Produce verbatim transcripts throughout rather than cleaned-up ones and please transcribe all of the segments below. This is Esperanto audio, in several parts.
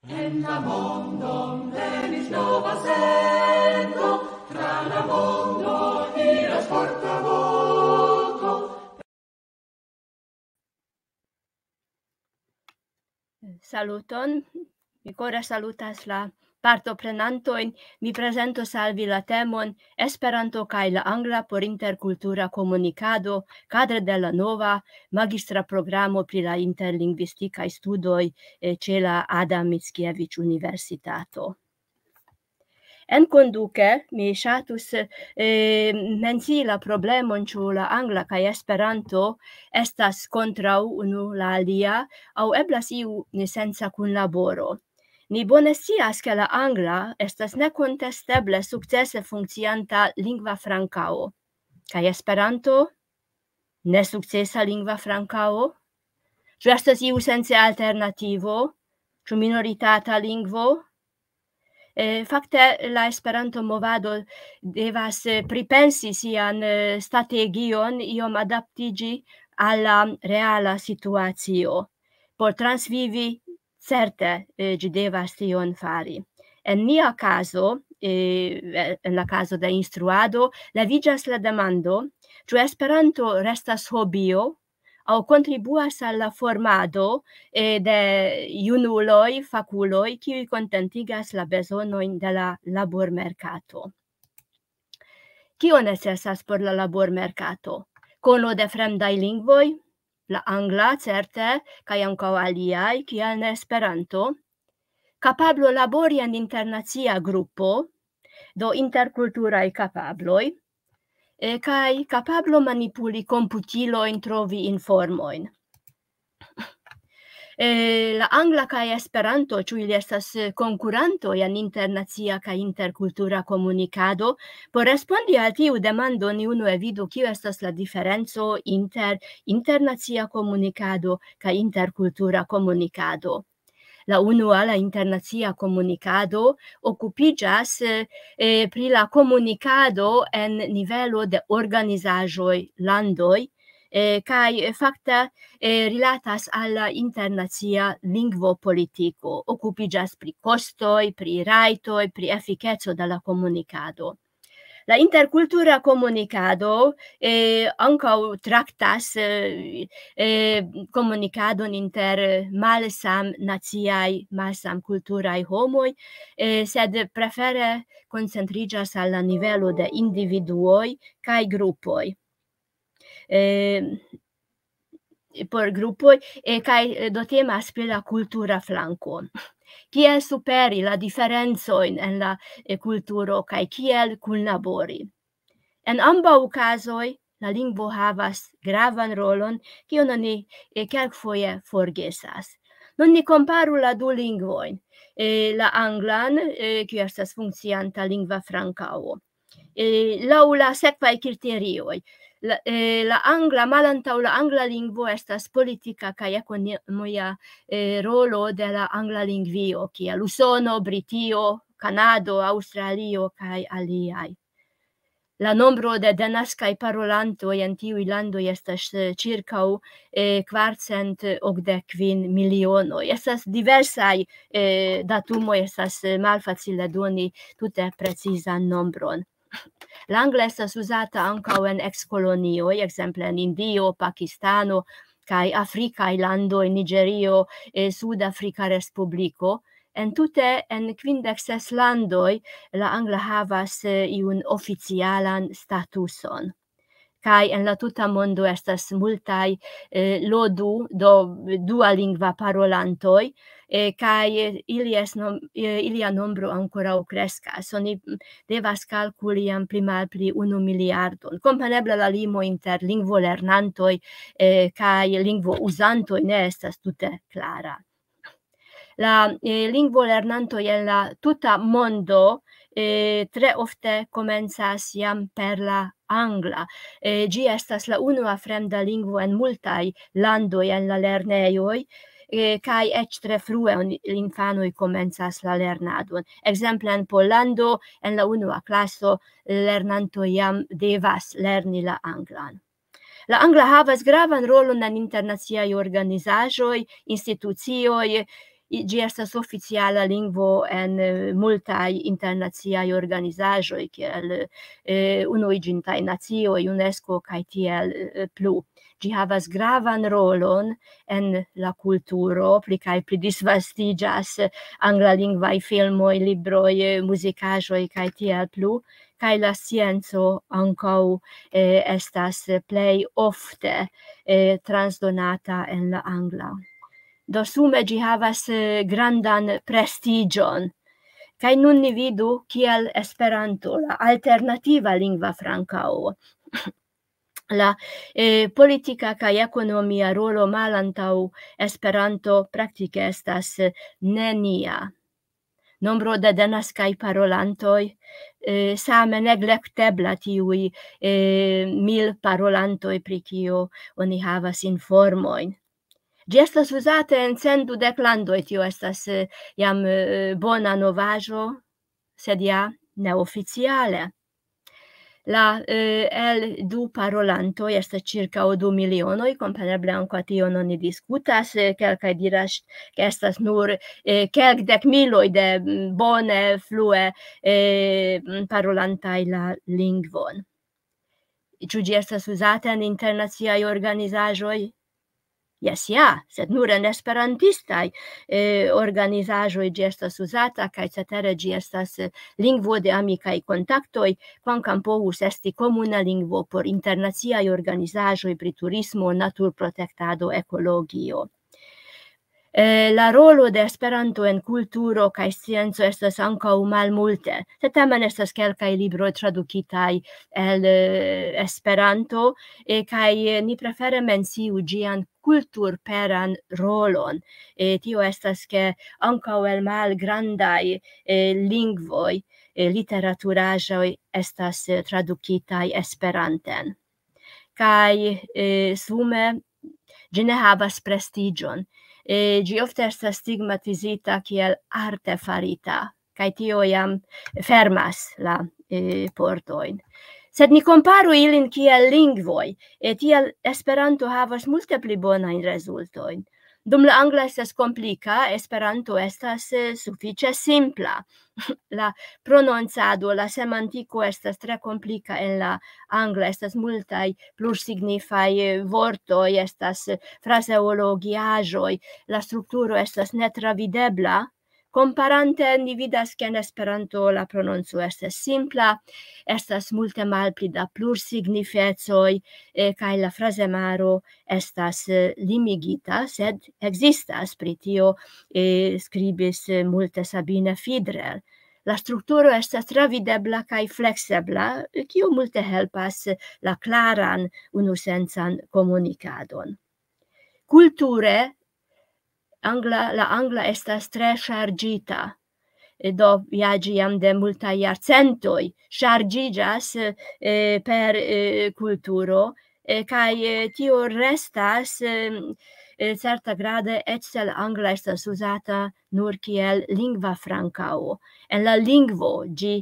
En la mondon venis nova sento, tra la mondo iras forta voko. Saluton, mi kore salutas la partoprenantojn. Mi prezentos al vi la temon Esperanto kaj la angla por interkultura komunikado kadre de la nova magistra programo pri la interlingvistikaj studoj, eh, ĉe la Adam Mickiewicz Universitato. En konduke mi ŝatus, eh, mencii la problemon, ĉu la angla kaj Esperanto estas kontraŭ unu la alia, aŭ eblas iu senca kunlaboro. Ni bone scias, ke la angla estas nekontesteble sukcese funkcianta lingva frankao. Kaj Esperanto? Nesukcesa lingva frankao? Ĉu estas iu senca alternativo? Ĉu minoritata lingvo? Eh, fakte, la Esperanto-movado devas, eh, pripensi sian, eh, strategion, iom adaptiĝi al la reala situacio. Por transvivi, certe, eh, ĝi devas tion fari. En nia kazo, eh, en la kazo de instruado, leviĝas la demando, ĉu Esperanto restas hobio aŭ kontribuas al la formado, eh, de junuloj, fakuloj, kiuj kontentigas la bezonojn de la labormerkato. Kio necesas por la labormerkato? Kono de fremdaj lingvoj, la angla, certe, kaj ankaŭ aliaj, kial ne Esperanto? Kapablo labori en internacia grupo, do interkulturaj kapabloj, eh, kaj kapablo manipuli komputilojn, trovi informojn. Eh, la angla kaj Esperanto, ĉu ili estas, eh, konkurantoj en internacia kaj interkultura komunikado? Por respondi al tiu demando, ni unue vidu, kio estas la diferenco inter internacia komunikado kaj interkultura komunikado. La unua, la internacia komunikado, okupiĝas, eh, eh, pri la komunikado en nivelo de organizaĵoj, landoj, eh, kaj, eh, fakte, eh, rilatas al la internacia lingvopolitiko, okupiĝas pri kostoj, pri rajtoj, pri efikeco de la komunikado. La interkultura komunikado, eh, ankaŭ traktas, eh, eh, komunikadon inter malsamnaciaj, malsamkulturaj homoj, eh, sed prefere koncentriĝas al la nivelo de individuoj kaj grupoj. Eh, por grupoj, eh, kaj, eh, do temas pri la kultura flanko. Kiel superi la diferencojn en la, eh, kulturo kaj kiel kunlabori? En ambaŭ kazoj la lingvo havas gravan rolon, kiun oni, eh, kelkfoje forgesas. Nun ni komparu la du lingvojn, eh, la anglan, eh, kiu estas funkcianta lingva frankao, eh, laŭ la sekvaj kriterioj. La, eh, la angla, malantaŭ la angla lingvo estas politika kaj ekonomia, eh, rolo de la angla lingvio, kiel Usono, Britio, Kanado, Aŭstralio kaj aliaj. La nombro de denaskaj parolantoj en tiuj landoj estas, eh, ĉirkaŭ, eh, kvarcent okdek kvin milionoj. Estas diversaj, eh, datumoj, estas, eh, malfacile doni tute precizan nombron. La angla estas uzata ankaŭ en ekskolonioj, ekzemple en Indio, Pakistano, kaj afrikaj landoj, Niĝerio, eh, Sudafrika Respubliko. En tute en kvindek ses landoj la angla havas, eh, iun oficialan statuson. Kaj en la tuta mondo estas multaj, eh, lodu, do dualingva parolantoj, eh, kaj, eh, ili es nom-, eh, ilia nombro ankoraŭ kreskas. Oni, mm, devas kalkuli jam pli malpli unu miliardon. Kompreneble la limo inter lingvolernantoj, eh, kaj lingvouzantoj ne estas tute klara. La, eh, lingvolernantoj en la tuta mondo, eh, tre ofte komencas jam per la angla. Eh, ĝi estas la unua fremda lingvo en multaj landoj en la lernejoj, eh, kaj eĉ tre frue on-, infanoj komencas la lernadon. Ekzemple en Pollando en la unua klaso lernantoj jam devas lerni la anglan. La angla havas gravan rolon en internaciaj organizaĵoj, institucioj, Ĝi estas oficiala lingvo en multaj internaciaj organizaĵoj, kiel Unuiĝintaj Nacioj, UNESCO kaj tiel plu. Ĝi havas gravan rolon en la kulturo, pli kaj pli disvastiĝas anglalingvaj filmoj, libroj, muzikaĵoj kaj tiel plu, kaj la scienco ankaŭ estas plej ofte transdonata en la angla. Do sume ĝi havas grandan prestiĝon. Kaj nun ni vidu, kiel Esperanto, la alternativa lingva frankao, la politika kaj ekonomia rolo malantaŭ Esperanto praktike estas nenia. Nombro de denaskaj parolantoj same neglektebla, tiuj mil parolantoj, pri kio oni havas informojn. Ĝi estas uzata en cent dudek landoj, tio estas jam bona novaĵo, sed ja neoficiale. La el du parolantoj estas ĉirkaŭ du milionoj, kompreneble ankaŭ tion oni diskutas. Kelkaj diras, ke estas nur kelkdek miloj de bone flue parolantaj la lingvon. Ĉu ĝi estas uzata en internaciaj organizaĵoj? Jes, ja, sed nur en esperantistaj organizaĵoj ĝi estas uzata, kaj cetere ĝi estas lingvo de amikaj kontaktoj, kvankam povus esti komuna lingvo por internaciaj organizaĵoj pri turismo, naturprotektado, ekologio. La rolo de Esperanto en kulturo kaj scienco estas ankaŭ malmulte, sed tamen estas kelkaj libroj tradukitaj el Esperanto, kaj ni prefere menciu ĝian kulturperan rolon. Tio estas, ke ankaŭ el malgrandaj lingvoj literaturaĵoj estas tradukitaj Esperanten. Kaj sume ĝi ne havas prestiĝon. Ĝi ofte estas stigmatizita kiel arte farita, kaj tio jam fermas la portojn. Sed ni komparu ilin kiel lingvoj, tiel Esperanto havas multe pli bonajn rezultojn. Dum la angla estas komplika, Esperanto estas sufiĉe simpla. La prononcado, la semantiko estas tre komplika en la angla, estas multaj plursignifaj vortoj, estas frazeologiaĵoj, la strukturo estas netravidebla. Komparante ni vidas, ke en Esperanto la prononco estas simpla, estas multe malpli da plursignifecoj, kaj la frazemaro estas limigita, sed ekzistas. Pri tio skribis multe Sabine Fidrer. La strukturo estas travidebla kaj fleksebla, kio multe helpas la klaran unusensan komunikadon. Kulture, angla, la angla estas tre ŝarĝita. Do ja ĝi jam de multaj jarcentoj ŝarĝiĝas per kulturo, kaj tio restas certa grade, eĉ se la angla estas uzata nur kiel lingva frankao. En la lingvo ĝi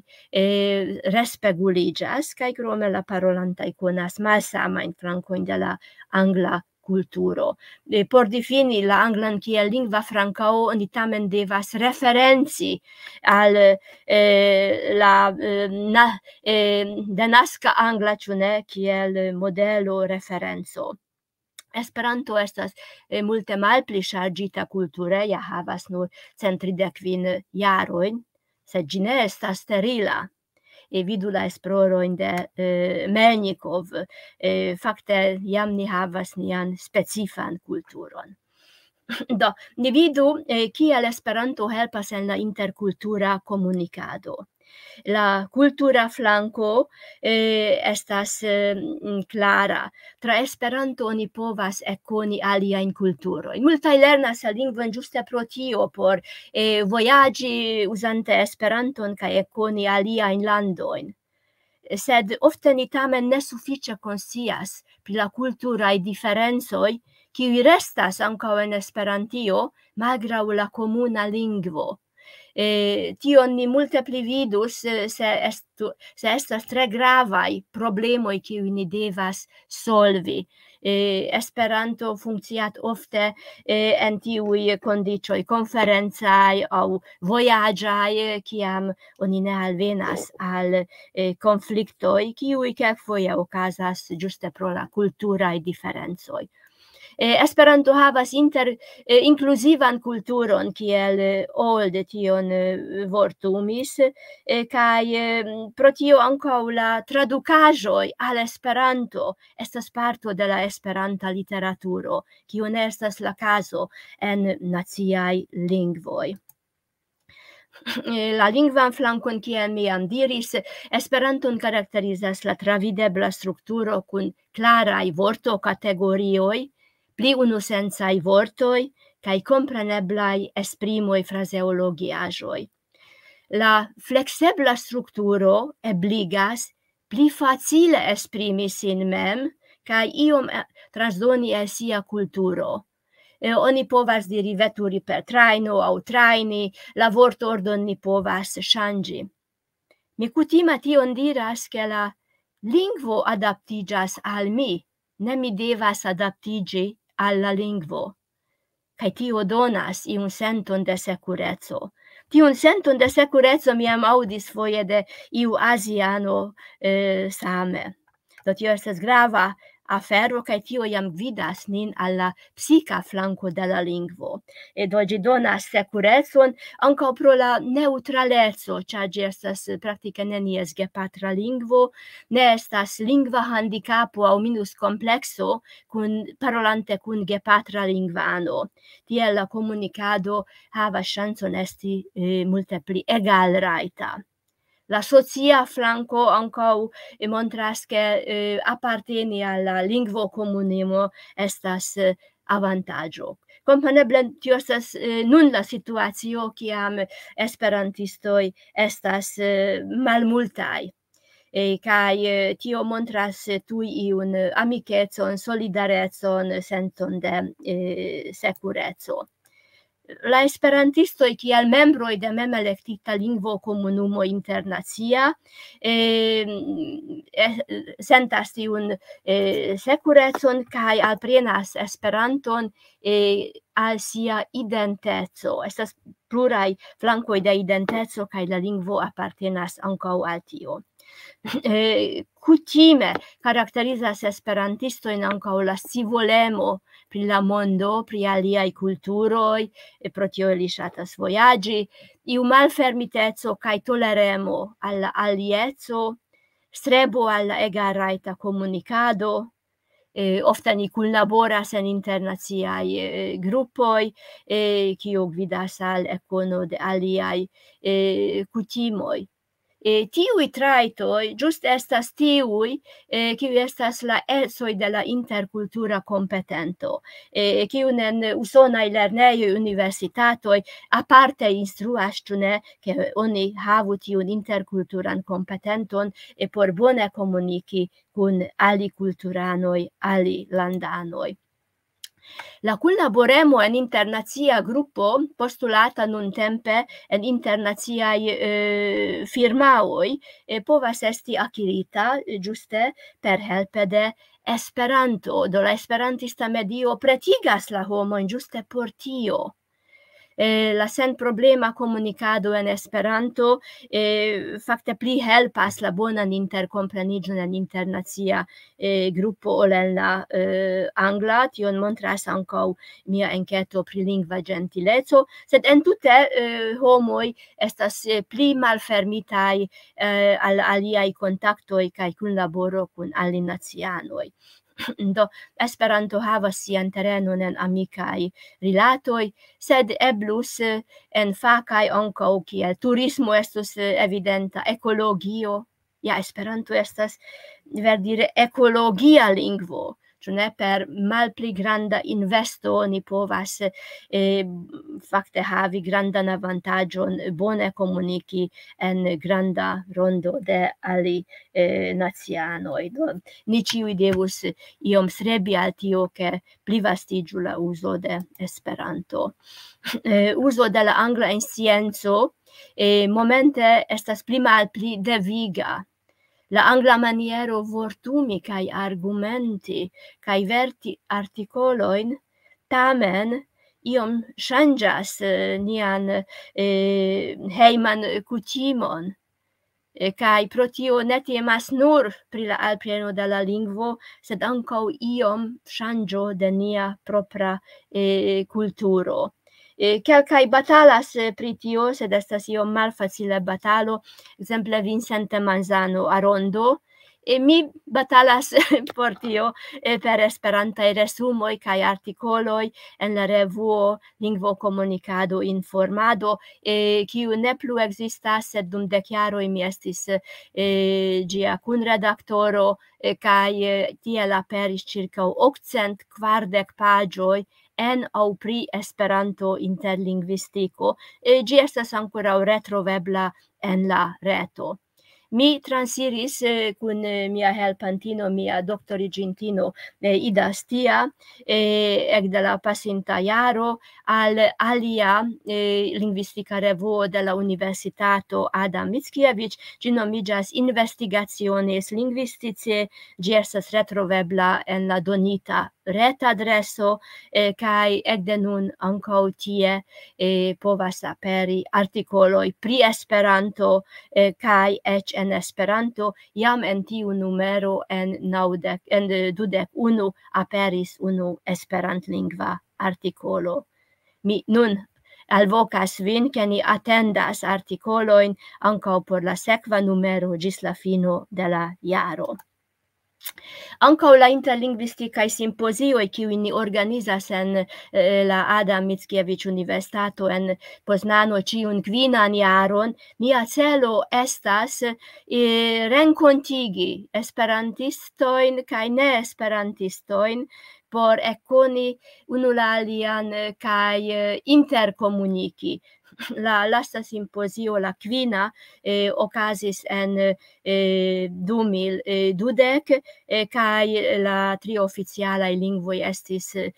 respeguliĝas, kaj krome la parolantaj konas malsamajn frankojn de la angla kulturo. Por difini la anglan kiel lingva frankao, oni tamen devas referenci al la denaska angla, ĉu ne, kiel modelo, referenco. Esperanto estas multe malpli ŝarĝita kulture, ja havas nur cent tridek kvin jarojn, sed ĝi ne estas sterila. Vidu la esplorojn de Melnikov. Fakte jam ni havas nian specifan kulturon. Do, ni vidu kiel Esperanto helpas en la interkultura komunikado. La kultura flanko estas klara. Tra Esperanto oni povas ekkoni aliajn kulturojn. Multaj lernas la lingvon ĝuste pro tio, por vojaĝi uzante Esperanton kaj ekkoni aliajn landojn. Sed ofte ni tamen ne sufiĉe konscias pri la kulturaj diferencoj, kiuj restas ankaŭ en Esperantio, malgraŭ la komuna lingvo. Eh, tion ni multe pli vidus, eh, se estu, se estas tre gravaj problemoj, kiuj ni devas solvi. Eh, Esperanto funkcias ofte, eh, en tiuj kondiĉoj konferencaj aŭ vojaĝaj, eh, kiam oni ne alvenas al, eh, konfliktoj, kiuj kelkfoje okazas ĝuste pro la kulturaj diferencoj. Eh, Esperanto havas inter, eh, inkluzivan kulturon, kiel, eh, Old tion, eh, vortumis, eh, kaj, eh, pro tio ankaŭ la tradukaĵoj al Esperanto estas parto de la esperanta literaturo, kio ne estas la kazo en naciaj lingvoj. Eh, la lingvan flankon, kiel mi jam diris, Esperanton karakterizas la travidebla strukturo kun klaraj vortokategorioj, pli unusensaj vortoj kaj kompreneblaj esprimoj, frazeologiaĵoj. La fleksebla strukturo ebligas pli facile esprimi sin mem kaj iom, eh, transdoni el sia kulturo. Eh, oni povas diri veturi per trajno aŭ trajni, la vortordon ni povas ŝanĝi. Mi kutime tion diras, ke la lingvo adaptiĝas al mi, ne mi devas adaptiĝi al la lingvo. Kaj tio donas iun senton de sekureco. Tiun senton de sekureco mi jam aŭdis foje de iu aziano, eh, same. Do tio estas grava afero, kaj tio jam gvidas nin al la psika flanko de la lingvo. E do ĝi donas sekurecon ankaŭ pro la neŭtraleco, ĉar ĝi estas praktike nenies gepatra lingvo, ne estas lingva handikapo aŭ minuskomplekso kun, parolante kun gepatra lingvano. Tiel la komunikado havas ŝancon esti, eh, multe pli egalrajta. La socia flanko ankaŭ, eh, montras, ke, eh, aparteni al la lingvokomunumo estas, eh, avantaĝo. Kompreneble tio estas, eh, nun la situacio, kiam esperantistoj estas, eh, malmultaj. Eh, kaj, eh, tio montras, eh, tuj iun, eh, amikecon, solidarecon, senton de, eh, sekureco. La esperantistoj kiel membroj de memelektita lingvokomunumo internacia, eh, eh, sentas tiun, eh, sekurecon kaj alprenas Esperanton, eh, al sia identeco. Estas pluraj flankoj de identeco kaj la lingvo apartenas ankaŭ al tio. Eh, kutime karakterizas esperantistojn ankaŭ la scivolemo pri la mondo, pri aliaj kulturoj, eh, pro tio ili ŝatas vojaĝi, iu malfermiteco kaj toleremo al la alieco, strebo al la egalrajta komunikado, eh, ofte ni kunlaboras en internaciaj, eh, grupoj, eh, kio gvidas al ekkono de aliaj, eh, kutimoj. Eh, tiuj trajtoj ĝuste estas tiuj, eh, kiuj estas la ecoj de la interkultura kompetento, eh, kiun en usonaj lernejoj, universitatoj aparte instruas, ĉu ne, ke oni havu tiun interkulturan kompetenton, eh, por bone komuniki kun alikulturanoj, alilandanoj. La kunlaboremo en internacia grupo, postulata nuntempe en internaciaj, eh, firmaoj, eh, povas esti akirita, eh, ĝuste per helpe de Esperanto. Do la esperantista medio pretigas la homojn ĝuste por tio. Eh, la senproblema komunikado en Esperanto, eh, fakte pli helpas la bonan interkompreniĝon en internacia, eh, grupo ol en la, eh, angla. Tion montras ankaŭ mia enketo pri lingva ĝentileco, sed entute, eh, homoj estas, eh, pli malfermitaj, eh, al aliaj kontaktoj kaj kunlaboro kun alinacianoj. Do, Esperanto havas sian terenon en amikaj rilatoj, sed eblus, eh, en fakaj ankaŭ, kiel turismo estus, eh, evidenta, ekologio. Ja, Esperanto estas, verdire, ekologia lingvo, ĉu ne, per malpli granda investo ni povas, eh, fakte havi grandan avantaĝon, bone komuniki en granda rondo de ali, eh, nacianoj. Do, ni ĉiuj devus iom strebi al tio, ke plivastiĝu la uzo de Esperanto. Eh, uzo de la angla en scienco, eh, momente estas pli malpli deviga. La angla maniero vortumi kaj argumenti kaj verti artikolojn tamen iom ŝanĝas, eh, nian, eh, hejman kutimon. Eh, kaj pro tio ne temas nur pri la alpreno de la lingvo, sed ankaŭ iom ŝanĝo de nia propra, eh, kulturo. Eh, kelkaj batalas, eh, pri tio, sed estas iom malfacile batalo, ekzemple Vincente Manzano Arondo. Eh, mi batalas por tio, eh, per esperantaj resumoj kaj artikoloj en la revuo Lingvo Komunikado Informado, eh, kiu ne plu ekzistas, sed dum dek jaroj mi estis, eh, ĝia kunredaktoro, eh, kaj, eh, tiel aperis ĉirkaŭ okcent kvardek paĝoj en aŭ pri Esperanto interlingvistiko. Eh, ĝi estas ankoraŭ retrovebla en la reto. Mi transiris, eh, kun, eh, mia helpantino, mia doktoriĝintino, eh, Ida Stia, eh, ekde la pasinta jaro al alia, eh, lingvistika revuo de la Universitato Adam Mickiewicz, ĝi nomiĝas Investigaciones Linguistice, ĝi estas retrovebla en la donita retadreso, eh, kaj ekde nun ankaŭ tie, eh, povas aperi artikoloj pri Esperanto, eh, kaj eĉ en Esperanto, jam en tiu numero en naŭdek, en, eh, dudek unu aperis unu esperantlingva artikolo. Mi nun alvokas vin, ke ni atendas artikolojn ankaŭ por la sekva numero ĝis la fino de la jaro. Ankaŭ la interlingvistikaj simpozioj, kiujn ni organizas en, eh, la Adam Mickiewicz Universitato en Poznano ĉiun kvinan jaron, nia celo estas, eh, renkontigi esperantistojn kaj neesperantistojn por ekkoni unu la alian, eh, kaj, eh, interkomuniki. La lasta simpozio, la kvina, eh, okazis en, eh, du mil dudek, eh, kaj la tri oficialaj lingvoj estis, eh,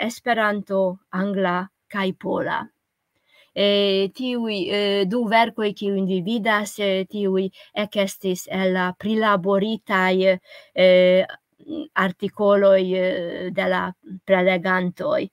Esperanto, angla kaj pola. Eh, tiuj, eh, du verkoj, kiujn vi vidas, eh, tiuj ekestis el la prilaboritaj, eh, artikoloj, eh, de la prelegantoj.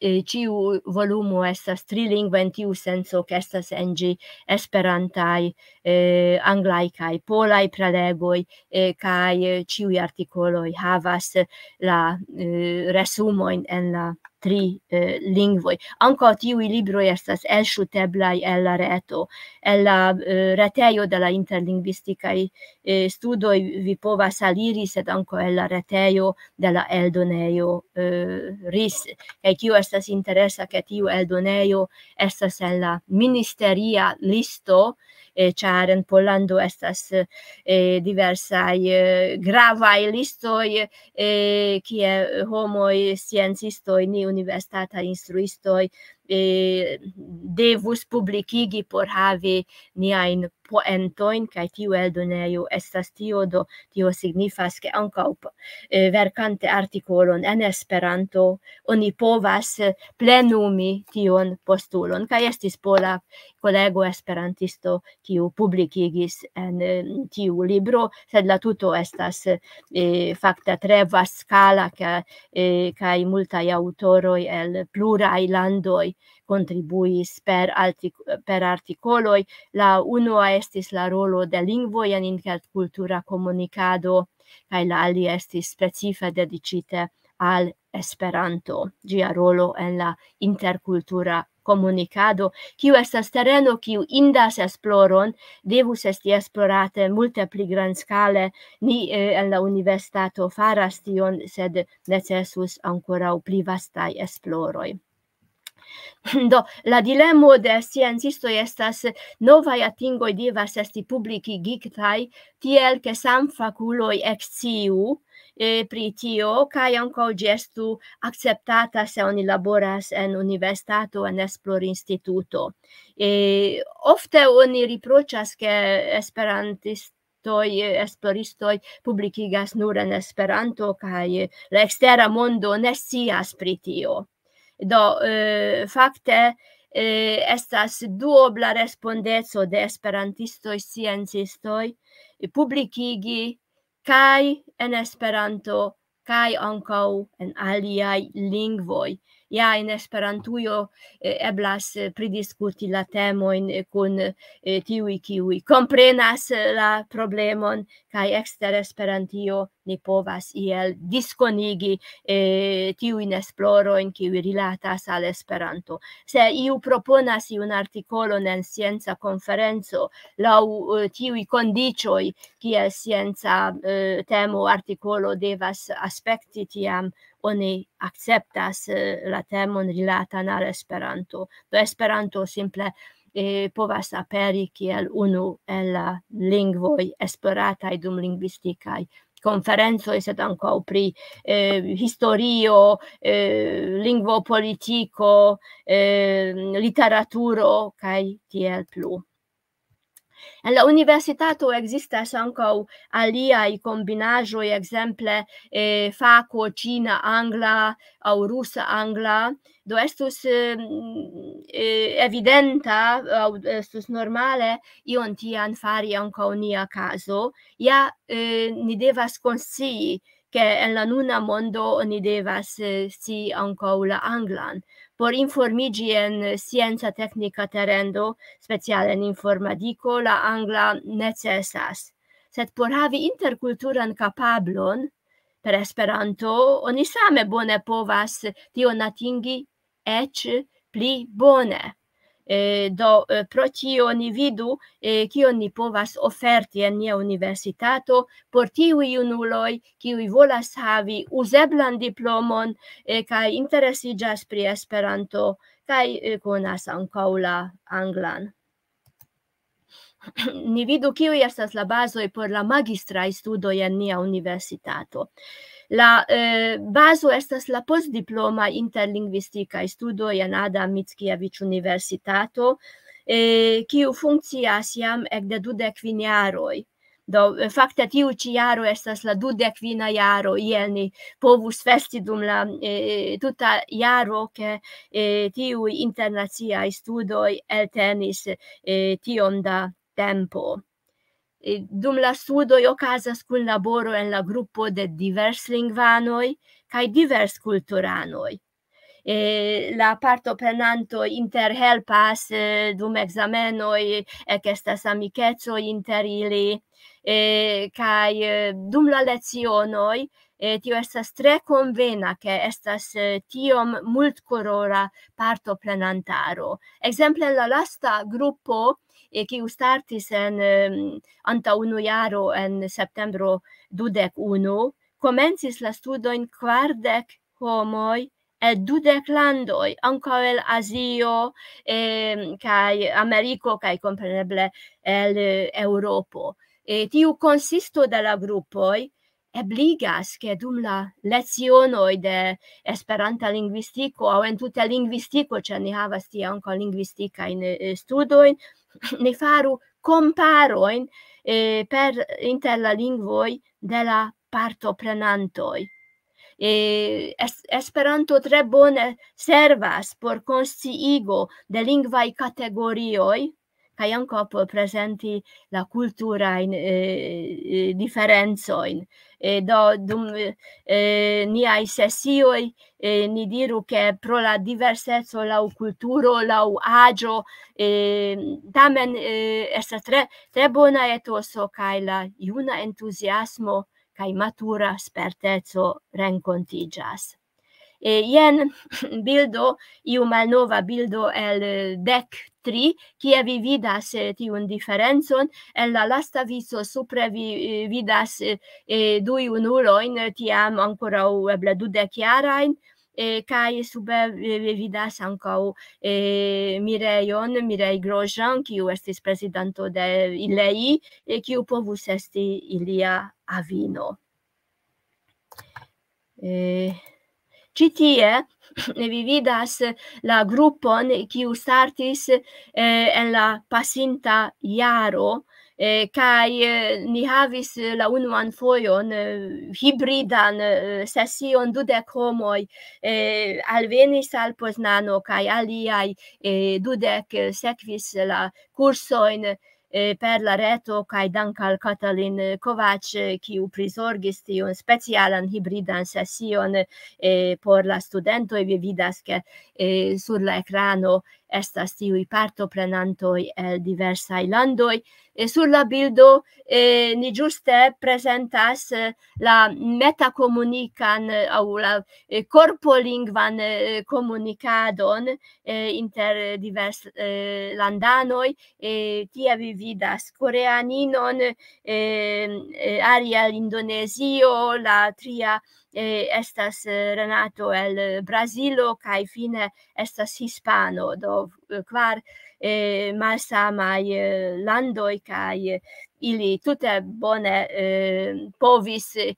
Eh, ĉiu volumo estas trilingva en tiu senco, ke estas en ĝi esperantaj, eh, anglaj kaj polaj prelegoj, eh, kaj, eh, ĉiuj artikoloj havas la, eh, resumojn en la tri, eh, lingvoj. Ankaŭ tiuj libroj estas elŝuteblaj el la reto, el la, eh, retejo de la interlingvistikaj, eh, studoj vi povas aliri, sed ankaŭ el la retejo de la eldonejo, eh, ris. Kaj kio estas interesa, ke tiu eldonejo estas en la ministeria listo, eh, ĉar en Pollando estas, eh, diversaj, eh, gravaj listoj, eh, kie homoj, sciencistoj, ni universitataj instruistoj, eh, devus publikigi por havi niajn poentojn, kaj tiu eldonejo estas tio, do tio signifas, ke ankaŭ p-, eh, verkante artikolon en Esperanto, oni povas, eh, plenumi tion postulon. Kaj estis pola kolego esperantisto, kiu publikigis en, eh, tiu libro, sed la tuto estas, eh, fakte tre vastskala, ke, eh, kaj multaj aŭtoroj el pluraj landoj kontribuis per altik-, per artikoloj. La unua estis la rolo de lingvoj en interkultura komunikado, kaj la alia estis specife dediĉite al Esperanto, ĝia rolo en la interkultura komunikado, kiu estas tereno, kiu indas esploron, devus esti esplorate multe pli grandskale. Ni, eh, en la universitato faras tion, sed necesus ankoraŭ pli vastaj esploroj. Do, la dilemo de sciencistoj estas: novaj atingoj devas esti publikigitaj tiel, ke samfakuloj eksciu eh, pri tio, kaj ankaŭ ĝi estu akceptata, se oni laboras en universitato, en esplorinstituto. Eh, ofte oni riproĉas, ke esperantistoj, eh, esploristoj publikigas nur en Esperanto, kaj la ekstera mondo ne scias pri tio. Do, eh, fakte, eh, estas duobla respondeco de esperantistoj, sciencistoj, publikigi kaj en Esperanto, kaj ankaŭ en aliaj lingvoj. Ja, en Esperantujo, eh, eblas, eh, pridiskuti la temojn, eh, kun, eh, tiuj, kiuj komprenas, eh, la problemon, kaj ekster Esperantio ni povas iel diskonigi, eh, tiujn esplorojn, kiuj rilatas al Esperanto. Se iu proponas iun artikolon en scienca konferenco laŭ, eh, tiuj kondiĉoj, kiel scienca, eh, temo, artikolo devas aspekti, tiam oni akceptas, eh, la temon rilatan al Esperanto. Do Esperanto simple, eh, povas aperi kiel unu el la lingvoj esplorataj dum lingvistikaj konferencoj, sed ankaŭ pri, eh, historio, eh, lingvopolitiko, eh, literaturo kaj tiel plu. En la universitato ekzistas ankaŭ aliaj kombinaĵoj, ekzemple, eh, fako ĉina angla aŭ rusa angla. Do estus, eh, eh, evidenta aŭ estus normale ion tian fari ankaŭ nia kazo. Ja, eh, ni devas konscii, ke en la nuna mondo oni devas, eh, scii ankaŭ la anglan. Por informiĝi en scienca teknika terendo, speciale en informadiko, la angla necesas. Sed por havi interkulturan kapablon per Esperanto, oni same bone povas tion atingi eĉ pli bone. Eh, do, eh, pro tio ni vidu, eh, kion ni povas oferti en nia universitato por tiuj junuloj, kiuj volas havi uzeblan diplomon, eh, kaj interesiĝas pri Esperanto, kaj, eh, konas ankaŭ la anglan. Ni vidu, kiuj estas la bazoj por la magistraj studoj en nia universitato. La, eh, bazo estas la postdiploma interlingvistikaj studoj en Adam Mickiewicz Universitato, eh, kiu funkcias jam ekde dudek kvin jaroj. Do, eh, fakte tiu ĉi jaro estas la dudek kvina jaro, iel ni povus festi dum la, eh, tuta jaro, ke, eh, tiuj internaciaj studoj eltenis, eh, tiom da tempo. Eh, dum la studoj okazas kunlaboro en la grupo de diverslingvanoj kaj diverskulturanoj. Eh, la partoprenantoj interhelpas, eh, dum ekzamenoj, ekestas amikecoj inter ili, eh, kaj, eh, dum la lecionoj, eh, tio estas tre konvena, ke estas, eh, tiom multkolora partoprenantaro. Ekzemple, la lasta grupo, eh, kiu startis en, em, antaŭ unu jaro en septembro dudek unu, komencis la studojn kvardek homoj el dudek landoj, ankaŭ el Azio, em, kaj Ameriko, kaj kompreneble el, eh, Eŭropo. Eh, tiu konsisto de la grupoj ebligas, ke dum la lecionoj de Esperanta lingvistiko aŭ entute lingvistiko, ĉar ni havas tie ankaŭ lingvistikajn, eh, studojn, ni faru komparojn, eh, per, inter la lingvoj de la partoprenantoj. Eh, es-, Esperanto tre bone servas por konsciigo de lingvaj kategorioj, kaj ankaŭ por prezenti la kulturajn, eh, eh, diferencojn. Eh, do, dum, eh, niaj sesioj, eh, ni diru, ke pro la diverseco laŭ kulturo, laŭ aĝo, eh, tamen, eh, estas tre, tre bona etoso, kaj la juna entuziasmo kaj matura sperteco renkontiĝas. Eh, jen bildo, iu malnova bildo el, eh, dek tri, kie vi vidas, eh, tiun diferencon. En la lasta vico supre vi, eh, vidas, eh, eh, du junulojn, eh, tiam ankoraŭ eble dudek jarajn, eh, kaj sube, eh, vi vidas ankaŭ, eh, Mirejon, Mireille Grosjean, kiu estis prezidanto de ILEI, eh, kiu povus esti ilia avino. Eh, Ĉi tie vi vidas la grupon, kiu startis, eh, en la pasinta jaro, eh, kaj, eh, ni havis la unuan fojon, eh, hibridan, eh, sesion, dudek homoj, eh, alvenis al Poznano kaj aliaj, eh, dudek, eh, sekvis la kursojn, eh, per la reto, kaj dank al Katalin Kovac, eh, kiu prizorgis tiun specialan hibridan sesion, eh, por la studentoj. Vi vidas, ke, eh, sur la ekrano estas tiuj partoprenantoj el diversaj landoj. Eh, sur la bildo, eh, ni ĝuste prezentas, eh, la metakomunikan, eh, aŭ la, eh, korpolingvan, eh, komunikadon, eh, inter divers-, eh, landanoj. Eh, tie vi vidas koreaninon, eh, eh, alia el Indonezio, la tria, eh, estas, eh, Renato el Brazilo, kaj fine estas hispano, do, eh, kvar, eh, malsamaj, eh, landoj, kaj, eh, ili tute bone, eh, povis, eh,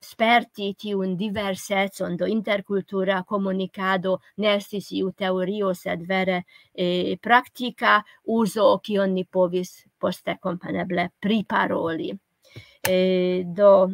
sperti tiun diversecon, do interkultura komunikado ne estis iu teorio, sed vere, eh, praktika uzo, kion ni povis poste kompreneble priparoli. Eh, do,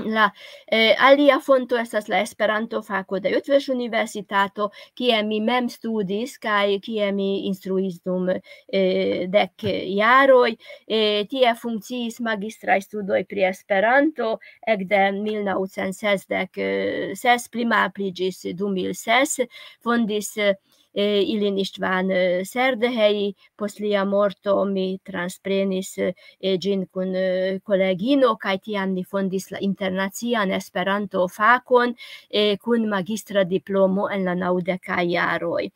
la, eh, alia fonto estas la Esperanto-fako de Utrecht Universitato, kie mi mem studis kaj kie mi instruis dum, eh, dek jaroj. Eh, tie funkciis magistraj studoj pri Esperanto, ekde mil naŭcent sesdek, eh, pli malpli ĝis du mil ses, fondis, eh, ilin Istvan, eh, Szerdehely. Post lia morto mi transprenis, eh, ĝin kun, eh, kolegino, kaj tiam ni fondis la internacian Esperanto-fakon, eh, kun magistra diplomo en la naŭdekaj jaroj.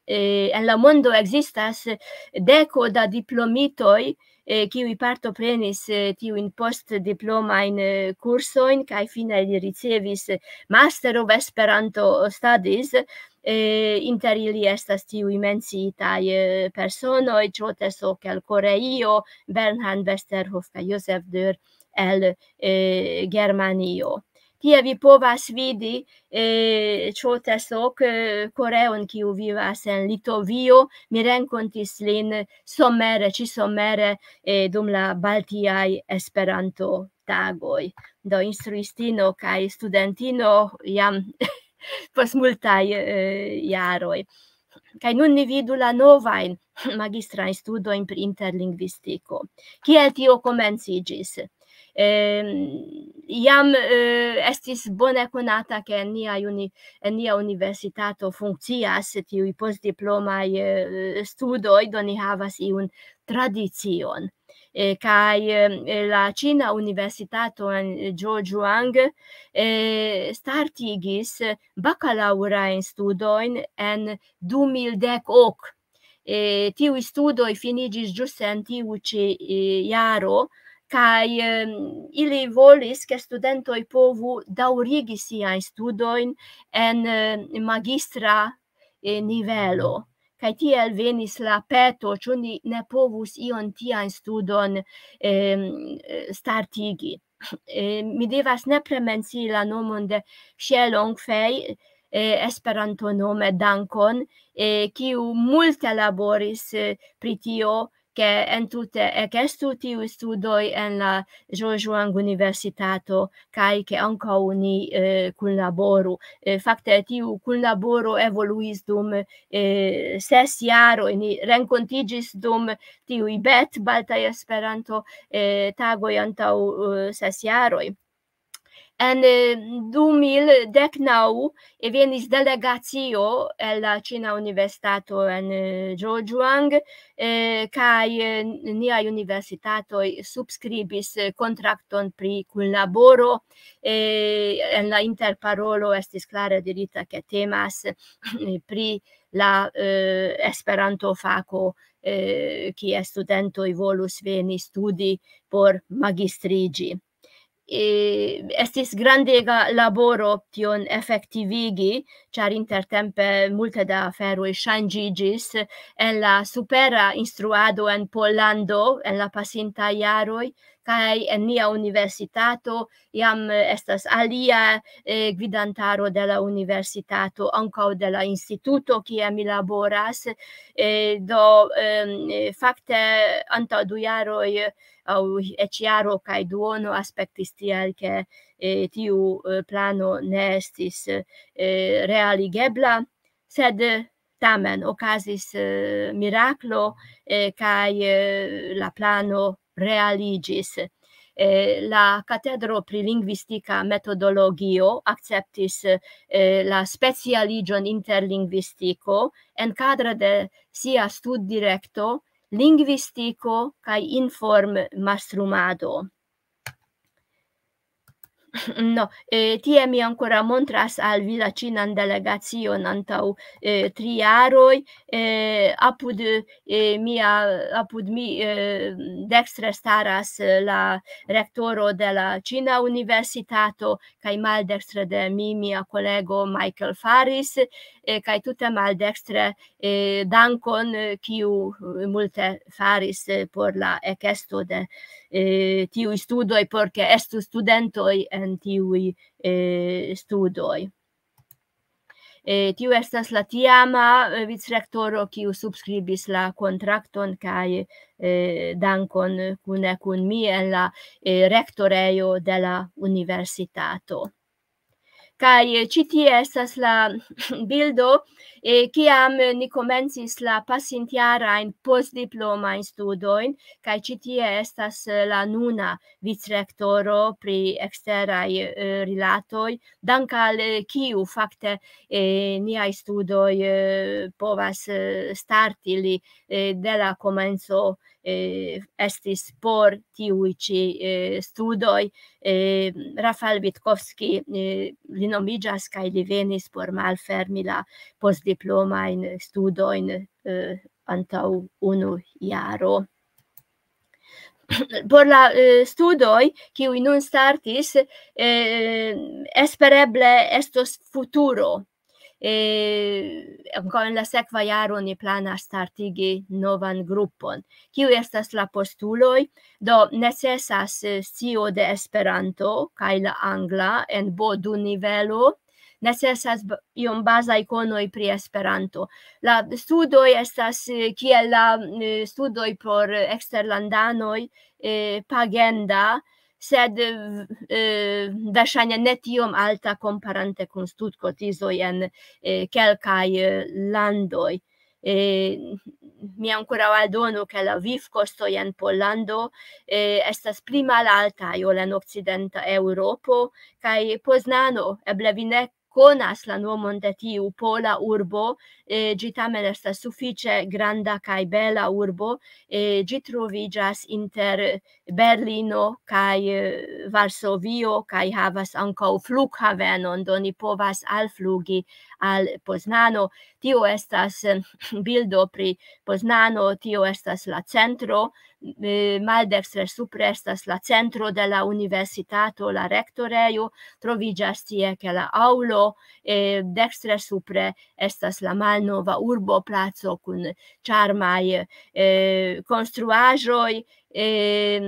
Eh, en la mondo ekzistas deko da diplomitoj, eh, kiuj partoprenis, eh, tiujn postdiplomajn, eh, kursojn, kaj fine li ricevis Master of Esperanto Studies. Eh, inter ili estas tiuj menciitaj, eh, personoj: Chote Sok el Koreio, Bernhard Westerhoff kaj Josef Dürr el, eh, Germanio. Tie vi povas vidi, eh, Chote Sok, eh, koreon, kiu vivas en Litovio. Mi renkontis lin somere, ĉi somere, eh, dum la Baltiaj Esperanto-tagoj. Do instruistino kaj studentino jam post multaj, eh, jaroj. Kaj nun ni vidu la novajn magistrajn studojn pri interlingvistiko. Kiel tio komenciĝis? Em, jam, eh, estis bone konata, ke en nia uni-, en nia universitato funkcias tiuj postdiplomaj, eh, studoj, do ni havas iun tradicion. Eh, kaj, eh, la Ĉina Universitato en Zhejiang, eh, startigis bakalaŭrajn studojn en du mil dek ok. Eh, tiuj studoj finiĝis ĝuste en tiu ĉi, eh, jaro, kaj, em, ili volis, ke studentoj povu daŭrigi siajn studojn en, eh, magistra, eh, nivelo. Kaj tiel venis la peto, ĉu ni ne povus ion tian studon, em, eh, startigi. Eh, mi devas nepre mencii la nomon de Xie Longfei, eh, Esperanto nome Dankon, eh, kiu multe laboris, eh, pri tio, ke entute ekestu tiuj studoj en la Zhejiang Universitato, kaj ke ankaŭ ni, eh, kunlaboru. Eh, fakte, tiu kunlaboro evoluis dum, eh, ses jaroj. Ni renkontiĝis dum tiuj bet Baltaj Esperanto, eh, tagoj antaŭ, eh, ses jaroj. En, eh, du mil dek naŭ, eh, venis delegacio el la Ĉina Universitato en, eh, Zhejiang, eh, kaj, eh, niaj universitatoj subskribis, eh, kontrakton pri kunlaboro. Eh, en la interparolo estis klare dirita, ke temas, eh, pri la, eh, Esperanto-fako, eh, kie studentoj volus veni studi por magistriĝi. eh, estis grandega laboro tion efektivigi, ĉar intertempe multe da aferoj ŝanĝiĝis. En la supera instruado en Pollando en la pasintaj jaroj, kaj en nia universitato jam, eh, estas alia, eh, gvidantaro de la universitato, ankaŭ de la instituto, kie mi laboras. Eh, do, em, eh, fakte antaŭ du jaroj aŭ eĉ jaro kaj duono aspektis tiel, ke, eh, tiu, eh, plano ne estis, eh, realigebla, sed tamen okazis, eh, miraklo, eh, kaj, eh, la plano realiĝis. Eh, la katedro pri lingvistika metodologio akceptis, eh, la specialiĝon inter lingvistiko en kadre de sia studdirekto, lingvistiko kaj inform-mastrumado. No, eh, tie mi ankoraŭ montras al vi la ĉinan delegacion antaŭ, eh, tri jaroj. Eh, apud, eh, mia, apud mi, eh, dekstre staras, eh, la rektoro de la ĉina universitato, kaj maldekstre de mi mia kolego Michael Faris, eh, kaj tute maldekstre, eh, Dankon, eh, kiu, eh, multe faris, eh, por la ekesto de, eh, tiuj studoj, por ke estu studentoj en tiuj, eh, studoj. Eh, tiu estas la tiama, eh, vicrektoro, kiu subskribis la kontrakton, kaj, eh, Dankon kune kun mi en la, eh, rektorejo de la universitato. Kaj, eh, ĉi tie estas la bildo, eh, kiam ni komencis la pasintjarajn postdiplomajn studojn, kaj ĉi tie estas, eh, la nuna vicrektoro pri eksteraj, eh, rilatoj, dank al, eh, kiu fakte, eh, niaj studoj, eh, povas, eh, starti. Li, eh, de la komenco, eh, estis por tiuj ĉi, eh, studoj. Eh, Rafael Witkowski, eh, li nomiĝas, kaj li venis por malfermi la postdiplomajn studojn, eh, antaŭ unu jaro. Por la, eh, studoj, kiuj nun startis, eh, espereble estos futuro. Eh, ankaŭ en la sekva jaro ni planas startigi novan grupon. Kiuj estas la postuloj? Do, necesas, eh, scio de Esperanto kaj la angla en B du nivelo. Necesas ba-, iom bazaj konoj pri Esperanto. La studoj estas, eh, kiel la, eh, studoj por eksterlandanoj, eh, pagenda, sed, eh, verŝajne ne tiom alta komparante kun studkotizoj en, eh, kelkaj, eh, landoj. Eh, mi ankoraŭ aldonu, ke la vivkostoj en Pollando, eh, estas pli malaltaj ol en okcidenta Eŭropo, kaj Poznano, eble vi ne konas la nomon de tiu pola urbo, eh, ĝi tamen estas sufiĉe granda kaj bela urbo, eh, ĝi troviĝas inter Berlino kaj, eh, Varsovio, kaj havas ankaŭ flughavenon, do ni povas alflugi al Poznano. Tio estas, eh, bildo pri Poznano, tio estas la centro, eh, maldekstre supre estas la centro de la universitato, la rektorejo, troviĝas tie ke la aŭlo, eh, dekstre supre estas la malnova urboplaco kun ĉarmaj, eh, konstruaĵoj, eh,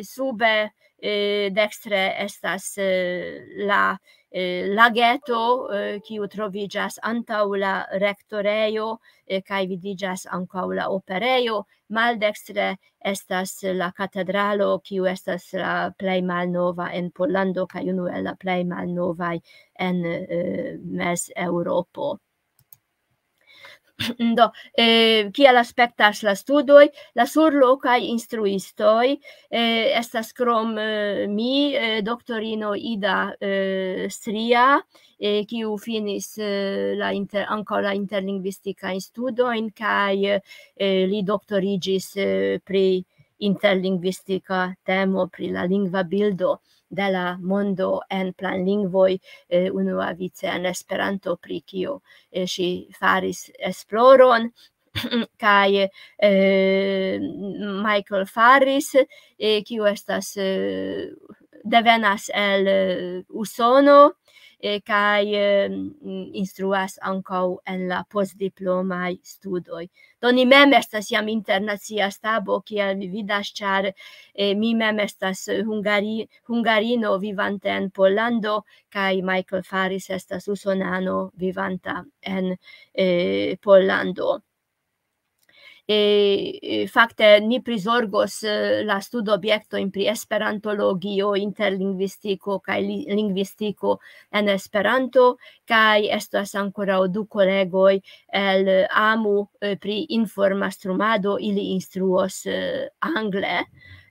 sube, eh, dekstre estas, eh, la, eh, lageto, eh, kiu troviĝas antaŭ la rektorejo, eh, kaj vidiĝas ankaŭ la operejo. Maldekstre estas la katedralo, kiu estas la plej malnova en Pollando kaj unu el la plej malnovaj en, eh, Mez-Eŭropo. Do, eh, kiel aspektas la studoj? La surlokaj instruistoj, eh, estas krom, eh, mi, eh, doktorino Ida, eh, Stria, eh, kiu finis, eh, la inter-, ankaŭ la interlingvistikajn studojn, kaj, eh, li doktoriĝis, eh, pri interlingvistika temo, pri la lingva bildo de la mondo en planlingvoj, eh, unuavice en Esperanto, pri kio, eh, ŝi faris esploron. Kaj, eh, Michael Faris, eh, kiu estas, eh, devenas el, eh, Usono, eh, kaj, eh, mm, instruas ankaŭ en la postdiplomaj studoj. Do ni mem estas jam internacia stabo, kiel vi vidas, ĉar, eh, mi mem estas hungari-, hungarino vivante en Pollando, kaj Michael Faris estas usonano vivanta en, eh, Pollando. Eh, eh, fakte ni prizorgos, eh, la studobjektojn pri esperantologio, interlingvistiko kaj li-, lingvistiko en Esperanto, kaj estas ankoraŭ du kolegoj el amu, eh, pri informastrumado, ili instruos, eh, angle.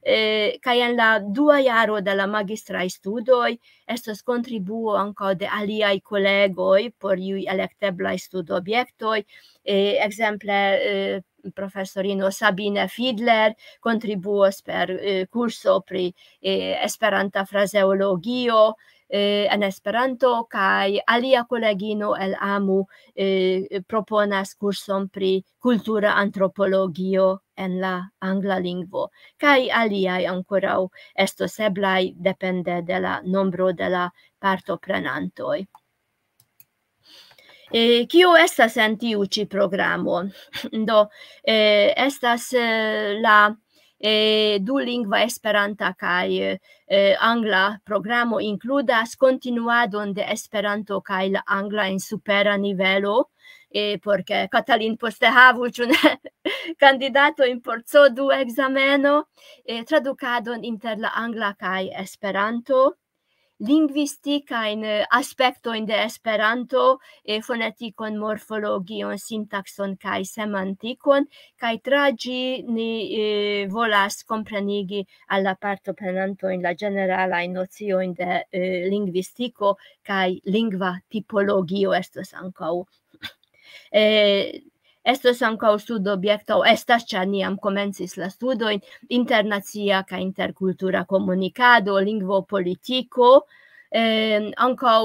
Eh, kaj en la dua jaro de la magistraj studoj estos kontribuo ankaŭ de aliaj kolegoj por iuj elekteblaj studobjektoj. Eh, ekzemple, eh, profesorino Sabine Fiedler kontribuos per, eh, kurso pri, eh, esperanta frazeologio, eh, en Esperanto, kaj alia kolegino el amu, eh, proponas kurson pri kultura antropologio en la angla lingvo, kaj aliaj ankoraŭ estos eblaj depende de la nombro de la partoprenantoj. Eh, kio estas en tiu ĉi programo? Do, eh, estas, eh, la, eh, dulingva esperanta kaj, eh, angla programo inkludas kontinuadon de Esperanto kaj la angla en supera nivelo, eh, por ke Katalin poste havu, ĉu ne, kandidatojn por C O du ekzameno, eh, tradukadon inter la angla kaj Esperanto, lingvistikajn, eh, aspektojn de Esperanto, eh, fonetikon, morfologion, sintakson kaj semantikon, kaj tra ĝi ni, eh, volas komprenigi al la partoprenantojn la ĝeneralajn nociojn de, eh, lingvistiko kaj lingva tipologio estos ankaŭ. Eh, estos ankaŭ studobjekto, estas, ĉar ni jam komencis la studojn, internacia kaj interkultura komunikado, lingvopolitiko, eh, ankaŭ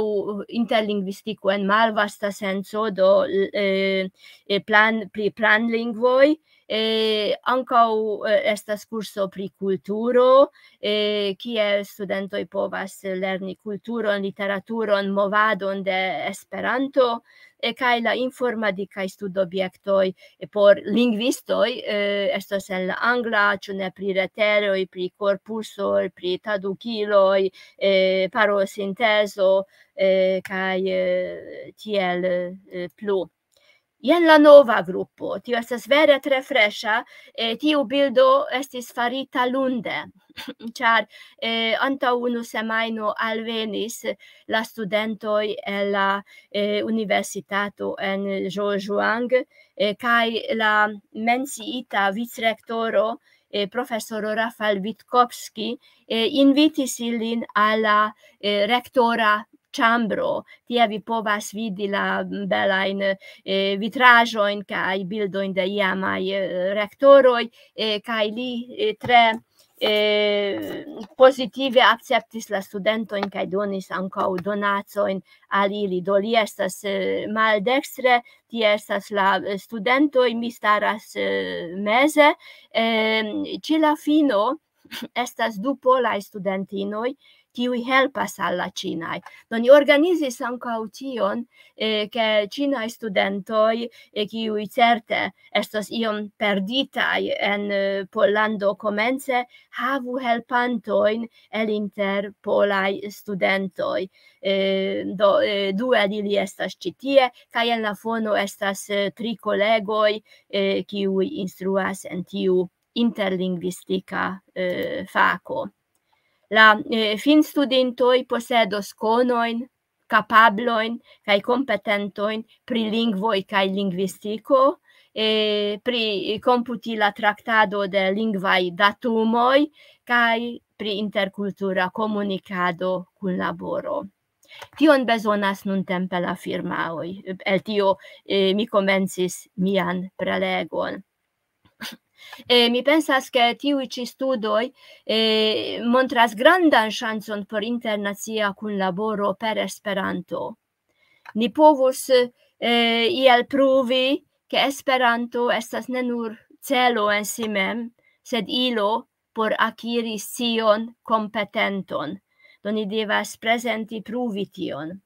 interlingvistiko en malvasta senco, do, eh, eh, plan-, pri planlingvoj, eh, ankaŭ, eh, estas kurso pri kulturo, eh, kie studentoj povas lerni kulturon, literaturon, movadon de Esperanto, eh, kaj la informatikaj studobjektoj, eh, por lingvistoj, eh, estos en la angla, ĉu ne, pri reteroj, pri korpusoj, pri tradukiloj, eh, parosintezo, eh, kaj, eh, tiel, eh, plu. Jen la nova grupo. Tio estas vere tre freŝa. Eh, tiu bildo estis farita lunde, ĉar, eh, antaŭ unu semajno alvenis la studentoj el la, eh, universitato en Zhejiang, eh, kaj la menciita vicrektoro, eh, profesoro Rafal Witkowski, eh, invitis ilin al la, eh, rektora ĉambro. Tie vi povas vidi la belajn, eh, vitraĵojn kaj bildojn de iamaj, eh, rektoroj, eh, kaj li, eh, tre, eh, pozitive akceptis la studentojn kaj donis ankaŭ donacojn al ili. Do li estas, eh, maldekstre, tie estas la, eh, studentoj, mi staras, eh, meze. Em, ĉe la fino estas du polaj studentinoj, kiuj helpas al la ĉinaj. Do ni organizis ankaŭ tion, eh, ke ĉinaj studentoj, eh, kiuj certe estos iom perditaj en, eh, Pollando komence, havu helpantojn el inter polaj studentoj. Eh, do, eh, du el ili estas ĉi tie, kaj en la fono estas, eh, tri kolegoj, eh, kiuj instruas en tiu interlingvistika, eh, fako. La, eh, finstudintoj posedos konojn, kapablojn kaj kompetentojn pri lingvoj kaj lingvistiko, eh, pri komputila traktado de lingvaj datumoj kaj pri interkultura komunikado, kunlaboro. Tion bezonas nuntempe la firmaoj. El tio, eh, mi komencis mian prelegon. Eh, mi pensas, ke tiuj ĉi studoj, eh, montras grandan ŝancon por internacia kunlaboro per Esperanto. Ni povus, eh, iel pruvi, ke Esperanto estas ne nur celo en si mem, sed ilo por akiri scion, kompetenton. Do ni devas prezenti, pruvi tion.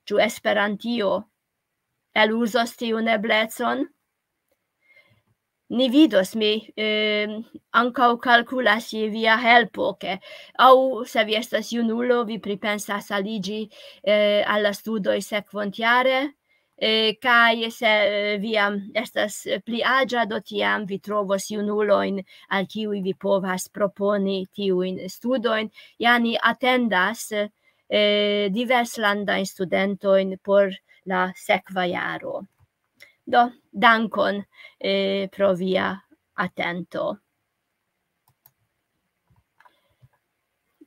Ĉu Esperantio eluzos tiun eblecon? Ni vidos, mi eh, ankaŭ kalkulas je via helpo, ke aŭ se vi estas junulo, vi pripensas aliĝi eh, al la studoj sekvontjare, eh, kaj se eh, vi jam estas pli aĝa, do tiam vi trovos junulojn, al kiuj vi povas proponi tiujn studojn. Ja ni atendas eh, diverslandajn studentojn por la sekva jaro. Do, dankon eh, pro via atento.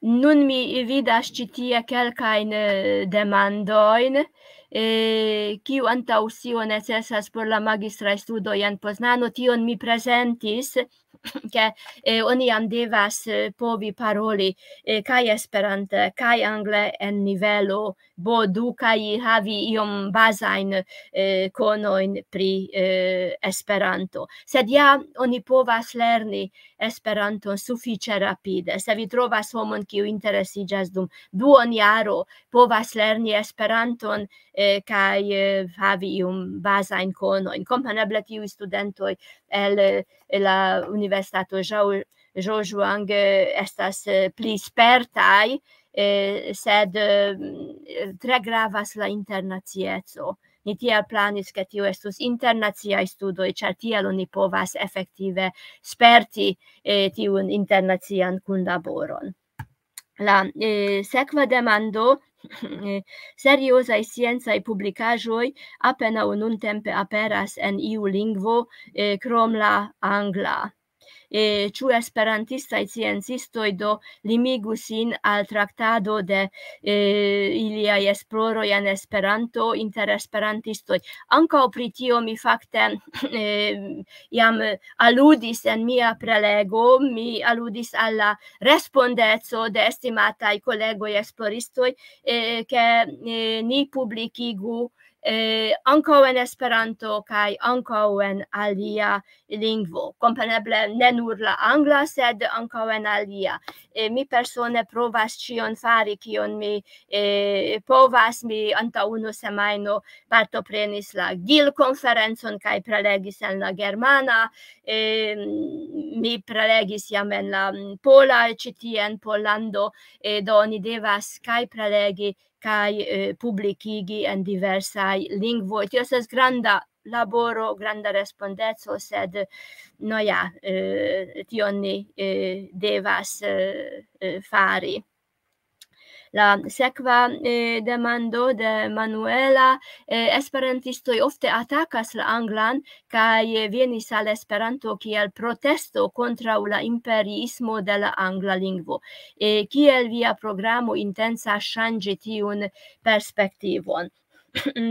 Nun mi vidas ĉi tie kelkajn eh, demandojn, eh, kiu antaŭ sio necesas por la magistraj studoj en Poznano, tion mi prezentis, ke eh, oni jam devas eh, povi paroli eh, kaj Esperante, kaj angle en nivelo B du, kaj havi iom bazajn eh, konojn pri eh, Esperanto. Sed ja oni povas lerni Esperanton sufiĉe rapide. Se vi trovas homon, kiu interesiĝas dum duonjaro, povas lerni Esperanton eh, kaj eh, havi iom bazajn konojn. Kompreneble tiuj studentoj el eh, la Universitato Zhao- Zhejiang eh, estas eh, pli spertaj, eh, sed eh, tre gravas la internacieco. Ni tiel planis, ke tio estus internaciaj studoj, ĉar tiel oni povas efektive sperti eh, tiun internacian kunlaboron. La eh, sekva demando, eh, seriozaj sciencaj publikaĵoj apenaŭ nuntempe aperas en iu lingvo eh, krom la angla. Eh, ĉu esperantistaj sciencistoj do limigu sin al traktado de eh, iliaj esploroj en Esperanto inter esperantistoj? Ankaŭ pri tio mi fakte eh, jam aludis en mia prelego, mi aludis al la respondeco de estimataj kolegoj esploristoj, eh, ke eh, ni publikigu eh, ankaŭ en Esperanto kaj ankaŭ en alia lingvo. Kompreneble ne nur la angla, sed ankaŭ en alia. Eh, mi persone provas ĉion fari, kion mi eh, povas. Mi antaŭ unu semajno partoprenis la gil-konferencon kaj prelegis en la germana. Eh, mi prelegis jam en la mm, pola, ĉi tie en Pollando. Eh, do oni devas kaj prelegi kaj eh, publikigi en diversaj lingvoj. Tio estas granda laboro, granda respondeco, sed no ja, eh, tion ni eh, devas eh, eh, fari. La sekva eh, demando de Manuela, eh, esperantistoj ofte atakas la anglan, kaj eh, venis al Esperanto kiel protesto kontraŭ la imperiismo de la angla lingvo. Eh, kiel via programo intencas ŝanĝi tiun perspektivon?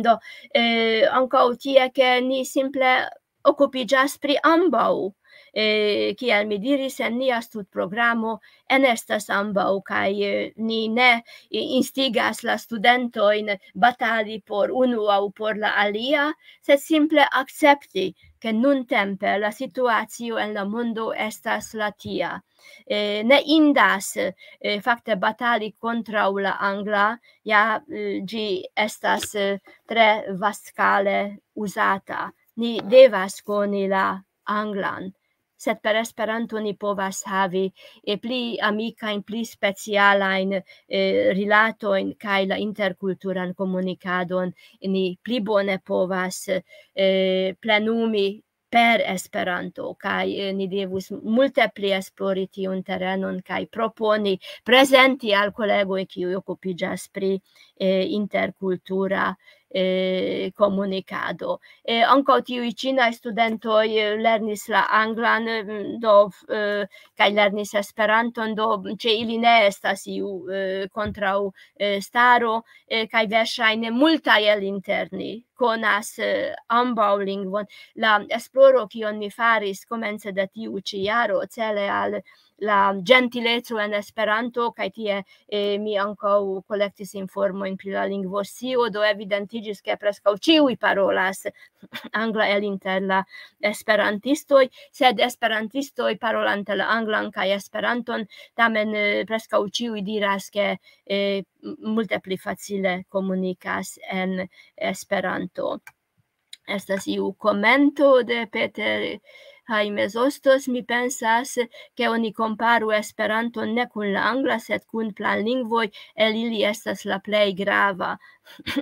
Do, eh, ankaŭ tie, ke ni simple okupiĝas pri ambaŭ. Eh, kiel mi diris, en nia studprogramo enestas ambaŭ, kaj eh, ni ne i- instigas la studentojn batali por unu aŭ por la alia, sed simple akcepti, ke nuntempe la situacio en la mondo estas la tia. Eh, ne indas eh, fakte batali kontraŭ la angla, ja eh, ĝi estas eh, tre vastskale uzata. Ni devas koni la anglan, sed per Esperanto ni povas havi eh, pli amikajn, pli specialajn eh, rilatojn kaj la interkulturan komunikadon ni pli bone povas eh, plenumi per Esperanto, kaj eh, ni devus multe pli esplori tiun terenon kaj proponi, prezenti al kolegoj, kiuj okupiĝas pri eh, interkultura eh, komunikado. Eh, ankaŭ tiuj ĉinaj studentoj eh, lernis la anglan, mm, do, eh, kaj lernis Esperanton, do ĉe ili ne estas iu eh, kontraŭ eh, staro, eh, kaj verŝajne multaj el inter ni konas eh, ambaŭ lingvon. La esploro, kion mi faris komence de tiu ĉi jaro, cele al la ĝentileco en Esperanto, kaj tie, eh, mi ankaŭ kolektis informojn pri la lingvoscio, do evidentiĝis, ke preskaŭ ĉiuj parolas angla el inter la esperantistoj, sed esperantistoj parolante la anglan kaj Esperanton, tamen, eh, preskaŭ ĉiuj diras, ke, eh, m-, multe pli facile komunikas en Esperanto. Estas iu komento de Peter Jaime Zostos: "Mi pensas, ke oni komparu Esperanton ne kun la angla, sed kun planlingvoj, el ili estas la plej grava."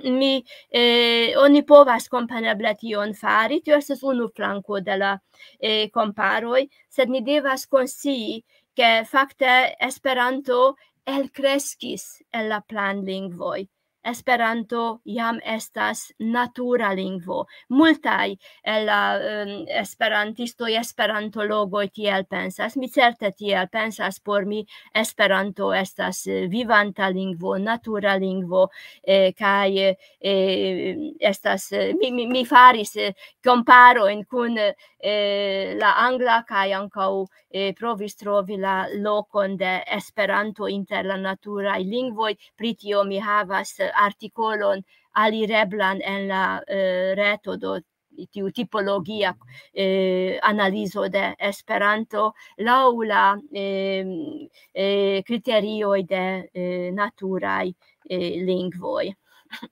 Mi, eh, oni povas kompreneble tion fari, tio estas unu flanko de la, eh, komparoj, sed ni devas konscii, ke fakte Esperanto elkreskis el la planlingvoj. Esperanto jam estas natura lingvo. Multaj el la, em, esperantistoj, esperantologoj tiel pensas. Mi certe tiel pensas, por mi Esperanto estas, eh, vivanta lingvo, natura lingvo, eh, kaj, eh, estas, eh, mi, mi, mi faris, eh, komparojn kun, eh, la angla kaj ankaŭ, eh, provis trovi la lokon de Esperanto inter la naturaj lingvoj. Pri tio mi havas, eh, artikolon alireblan en la, eh, reto, do tiu tipologia, eh, analizo de Esperanto laŭ la, em, eh, kriterioj de, eh, naturaj, eh, lingvoj.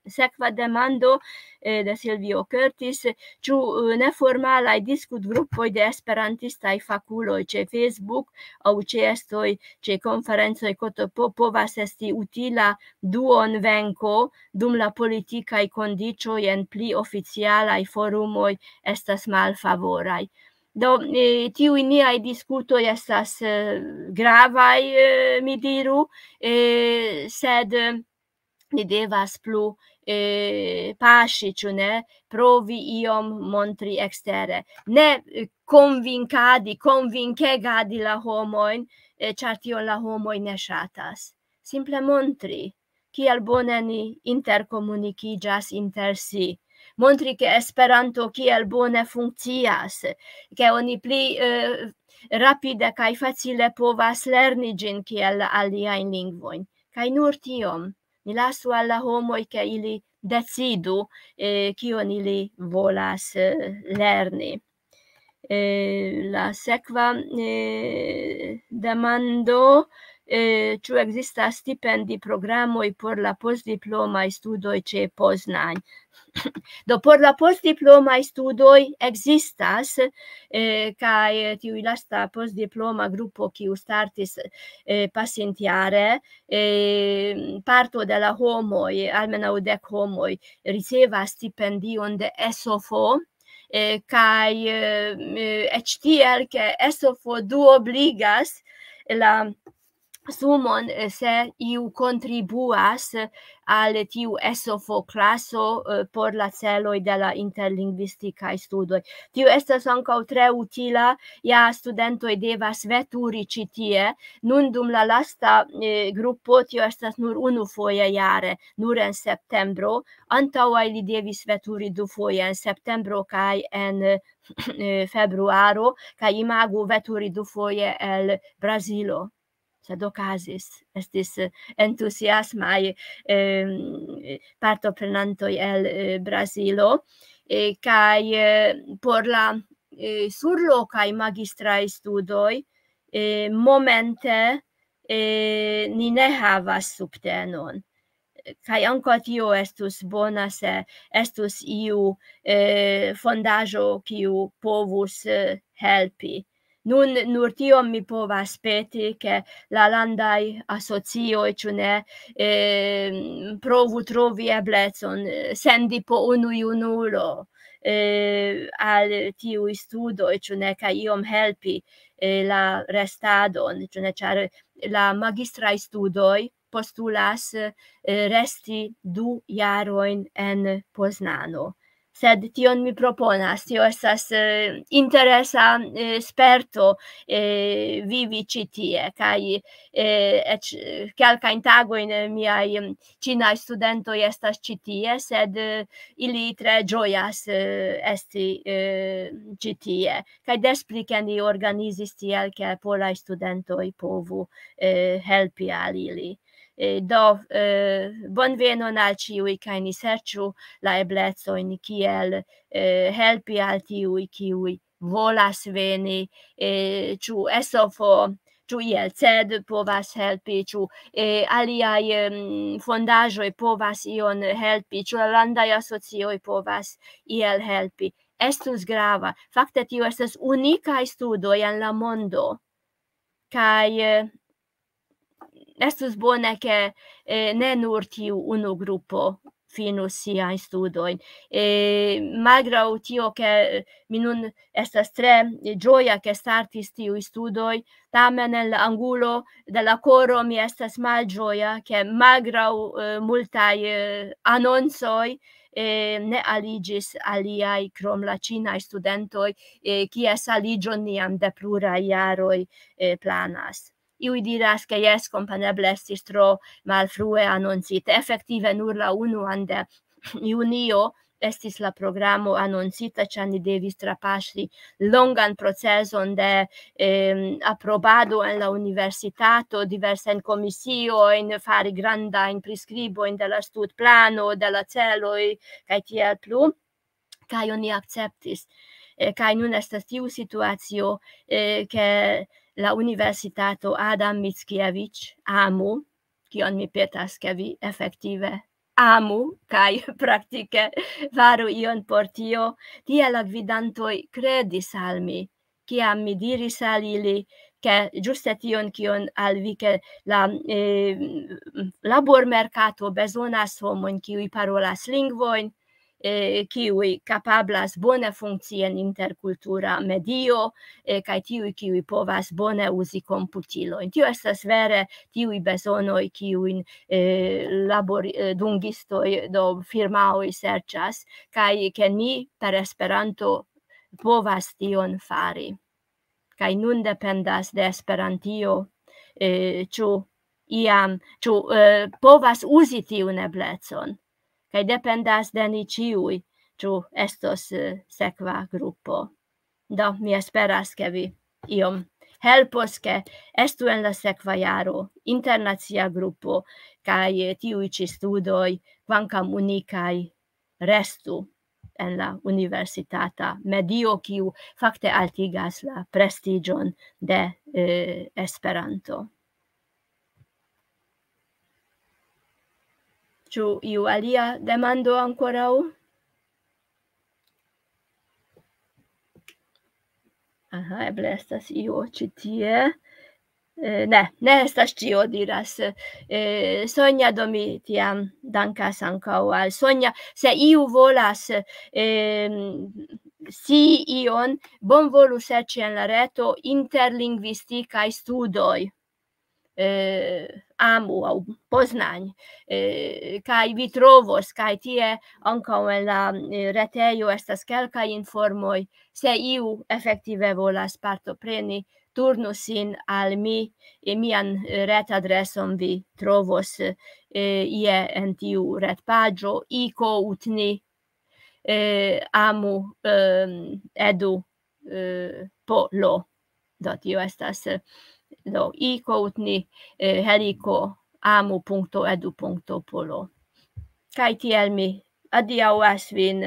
Sekva demando, eh, de Silvio Curtis: "Ĉu, eh, neformalaj diskutgrupoj de esperantistaj fakuloj ĉe Facebook aŭ ĉeestoj ĉe konferencoj K T P povas esti utila duonvenko, dum la politikaj kondiĉoj en pli oficialaj forumoj estas malfavoraj?" Do, eh, tiuj niaj diskutoj estas, eh, gravaj, eh, mi diru, eh, sed, eh, ni devas plu, eh, paŝi, ĉu ne, provi iom montri ekstere. Ne, eh, konvinkadi, konvinkegadi la homojn, eh, ĉar tion la homoj ne ŝatas. Simple montri, kiel bone ni interkomunikiĝas inter si. Montri, ke Esperanto kiel bone funkcias, ke oni pli, eh, rapide kaj facile povas lerni ĝin kiel la aliajn lingvojn. Kaj nur tiom. Ni lasu al la homoj, ke ili decidu, eh, kion ili volas, eh, lerni. Eh, la sekva, eh, demando, eh, ĉu ekzistas stipendi programoj por la postdiplomaj studoj ĉe Poznań? Do, por la postdiplomaj studoj ekzistas, eh, kaj tiuj lasta postdiploma grupo, kiu startis, eh, pasintjare, eh, parto de la homoj, almenaŭ dek homoj, ricevas stipendion de S O F, eh, kaj, eh, eh, eĉ tiel, ke S O F duobligas la sumon, eh, se iu kontribuas al tiu S O F klaso, eh, por la celoj de la interlingvistikaj studoj. Tio estas ankaŭ tre utila, ja studentoj devas veturi ĉi tie. Nun dum la lasta, eh, grupo tio estas nur unufoje jare, nur en septembro. Antaŭaj li devis veturi dufoje, en septembro kaj en, eh, februaro, kaj imagu veturi dufoje el Brazilo. Sed okazis, estis, eh, entuziasmaj, em, partoprenantoj el, eh, Brazilo, eh, kaj, eh, por la, eh, surlokaj magistraj studoj, eh, momente, eh, ni ne havas subtenon. Kaj ankaŭ tio estus bona, se estus iu, eh, fondaĵo, kiu povus, eh, helpi. Nun nur tiom mi povas peti, ke la landaj asocioj, ĉu ne, eh, provu trovi eblecon, eh, sendi po unu junulo, eh, al tiuj studoj, ĉu ne, kaj iom helpi, eh, la restadon, ĉu ne, ĉar la magistraj studoj postulas, eh, resti du jarojn en Poznano. Sed tion mi proponas, tio estas eh, interesa eh, sperto eh, vivi ĉi tie, kaj eh, eĉ eh, kelkajn tagojn eh, miaj mm, ĉinaj studentoj estas ĉi tie, sed eh, ili tre ĝojas eh, esti eh, ĉi tie. Kaj des pli ke ni organizis tiel, ke polaj studentoj povu eh, helpi al ili. Eh, Do, eh, bonvenon al ĉiuj, kaj ni serĉu la eblecojn, kiel eh, helpi al tiuj, kiuj volas veni, eh, ĉu S O F O, ĉu I L C D povas helpi, ĉu eh, aliaj em, fondaĵoj povas ion helpi, ĉu la landaj asocioj povas iel helpi. Estus grava. Fakte, tio estas unikaj studoj en la mondo. Kaj eh, estus bone, ke eh, ne nur tiu unu grupo finus siajn studojn. Eh, malgraŭ tio, ke eh, mi nun estas tre ĝoja, ke startis tiuj studoj, tamen en la angulo de la koro mi estas malĝoja, ke malgraŭ eh, multaj eh, anoncoj eh, ne aliĝis aliaj krom la ĉinaj studentoj, eh, kies aliĝon ni jam de pluraj jaroj eh, planas. Iuj diras, ke jes, kompreneble estis tro malfrue anoncite. Efektive nur la unuan de junio estis la programo anoncita, ĉar ni devis trapaŝi longan proceson de em, aprobado en la universitato, diversajn komisiojn, fari grandajn priskribojn de la studplano, de la celoj, kaj tiel plu. Kaj oni akceptis. Eh, Kaj nun estas tiu situacio, eh, ke la universitato Adam Mickiewicz, amu, kion mi petas, ke vi efektive amu kaj praktike faru ion por tio, tie la gvidantoj kredis al mi, kiam mi diris al ili, ke ĝuste tion, kion al vi, ke la eh, labormerkato bezonas homojn, kiuj parolas lingvojn, eh, kiuj kapablas bone funkcii en interkultura medio, eh, kaj tiuj, kiuj povas bone uzi komputilojn. Tio estas vere tiuj bezonoj, kiujn eh, labor, eh, dungistoj, do firmaoj serĉas, kaj ke ni per Esperanto povas tion fari. Kaj nun dependas de Esperantio, eh, ĉu iam, ĉu eh, povas uzi tiun eblecon. Kaj dependas de ni ĉiuj, ĉu estos eh, sekva grupo. Do, mi esperas, ke vi iom helpos, ke estu en la sekva jaro internacia grupo, kaj eh, tiuj ĉi studoj, kvankam unikaj, restu en la universitata medio, kiu fakte altigas la prestiĝon de eh, Esperanto. Ĉu iu alia demando ankoraŭ? Aha, eble estas io ĉi tie. Eh, ne, ne estas ĉio, diras eh, Sonja, do mi tiam dankas ankaŭ al Sonja. Se iu volas eh, si ion, bonvolu serĉi en la reto interlingvistikaj studoj eh, Amu aŭ Poznań, eh, kaj vi trovos, kaj tie ankaŭ en la eh, retejo estas kelkaj informoj. Se iu efektive volas partopreni, turnu sin al mi, e mian eh, retadreson vi trovos eh, ie en tiu retpaĝo, iko utni eh, amu eh, edu eh, po lo. Do tio estas eh, do iko utni eh, heliko amu punkto edu punkto po lo. Kaj tiel mi adiaŭas vin,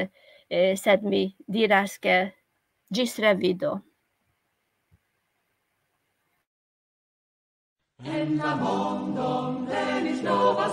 eh, sed mi diras, ke ĝis revido. En la mondon venis nova